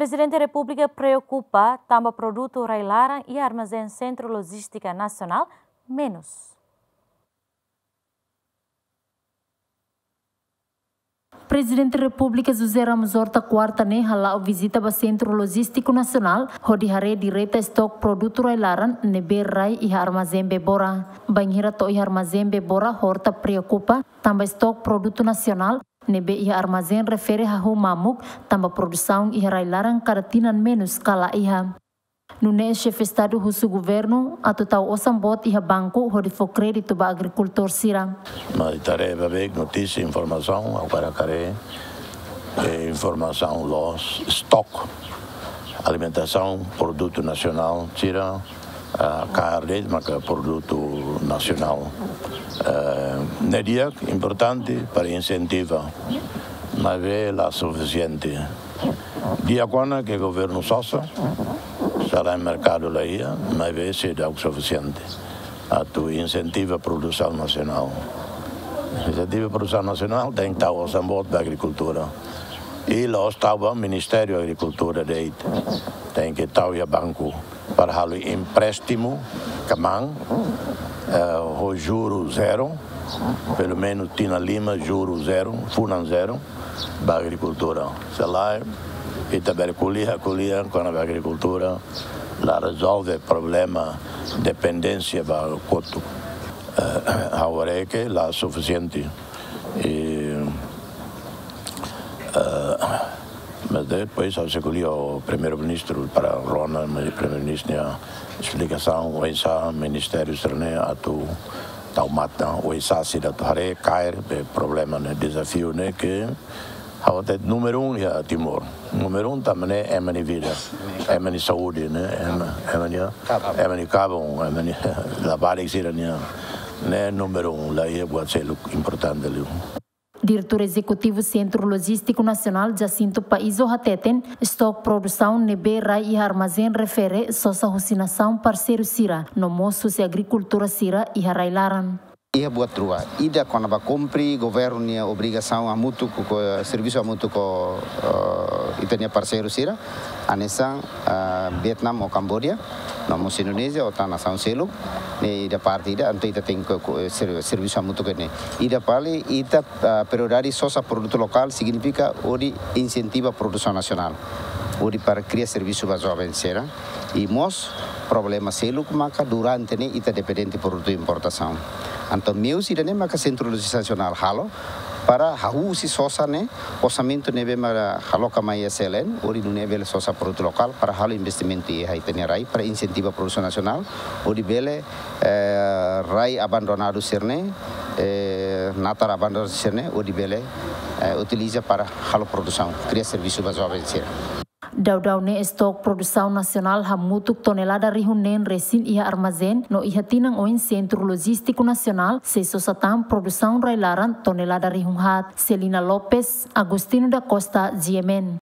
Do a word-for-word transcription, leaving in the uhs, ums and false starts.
Prezidente Repúblika preokupa tanba produtu rai-laran iha armazén Sentru Lojístika Nasionál menus. Prezidente Repúblika José Ramos Horta kuarta ne'e hala'o vizita ba Sentru Lojístiku Nasionál, hodi haree direta estok produtu rai-laran ne'ebé rai iha armazén Bebora. Bainhira to'o iha armazén Bebora, Horta preokupa tanba estok produtu nasionál ne'ebé iha armazén refere hahú mamuk, tanba produsaun iha rai-laran kada tinan menus ka la iha. Nune'e Xefe Estadu husu governu atu tau osan boot iha banku hodi fó kréditu ba agrikultór sira. Mas ita haree ba bek notísia, informasaun, agora haree, eh, informasaun loos, estok alimentasaun, produtu nasionál sira, ah, kaer de'it maka produtu nasionál. Eh, ne'e di'ak, importante para insentiva, maibé la sufisiente. Di'ak ona ke governu sosa, sala merkadu la iha, maibé seidauk sufisiente atu insentiva produsaun nasionál. Insentiva produsaun nasionál tenke tau osan boot ba agrikultura. I la'ós tau ba Ministériu Agrikultura de'it. Tenke tau iha banku para halo empréstimu kmaan, eh, ho juru zero, pelumenus tinan lima juru zero, funan zero, ba agrikultura. Se lae, ita bele ko'alia, ko'alia kona-ba agrikultura, la rezolve problema dependénsia ba kotuk. Eh, ha'u haree ke la sufisiente. I, eh, mas depois ha'u sei ko'alia ho Primeiru-Ministru para rona, mas Primeiru-Ministru nia esplikasaun, oinsá ministériu sira-ne'e atu tau matan, oinsá sira atu haree kaer, be problema ne'e, dezafiu ne'e ke ha'u hatete númeru um iha Timor. Númeru um tanba ne'e ema nia vida, ema nia saúde, ne'e, ema, ema nia, ema nia kabun, ema nia labarik sira-nian. Ne'e númeru um, la iha buat seluk importante liu. Diretór Ezekutivu Sentru Lojístiku Nasionál, Jacinto Paizo, hateten, estok produsaun ne'ebé rai iha armazén refere sosa husi nasaun parseiru sira, no mós husi agrikultór sira iha rai-laran. Iha buat rua, ida kona-ba kumpre governu nia obrigasaun hamutuk ho, servisu hamutuk ho, eh, ita-nia parseiru sira, hanesan, eh, Vietnam ou Kamboja, no mós Indonézia ou tan nasaun seluk, ne'e ida parte ida, entaun ita tenke ko-, ko-, ser-, servisu hamutuk ho ne'e. Ida fali, ita, eh, prioridade sosa produtu lokál signifika hodi insentiva produsaun nasionál, hodi para kria servisu ba joven sira. I mós problema seluk maka durante ne'e ita dependente produtu importasaun. Entaun meius ida-ne'e maka Sentru Lojístiku Nasionál halo para hahú husi sosa ne'e, orsamentu ne'ebé maka aloka mai iha C L N, hodi nune'e bele sosa produtu lokál para halo investimentu iha ita-nia rai para insentiva produsaun nasionál, hodi bele, eh, rai abandonadu sira-ne'e, eh, natar abandonadu sira-ne'e, hodi bele, eh, utiliza para halo produsaun, kria servisu ba joven sira. Daudaun ne'e estok produsaun nasionál hamutuk tonelada rihun neen resin iha armazén, no iha tinan oin Sentru Lojístiku Nasionál sei sosa tan produsaun rai-laran tonelada rihun haat. Celina Lopes, Agostinho da Costa, G M N.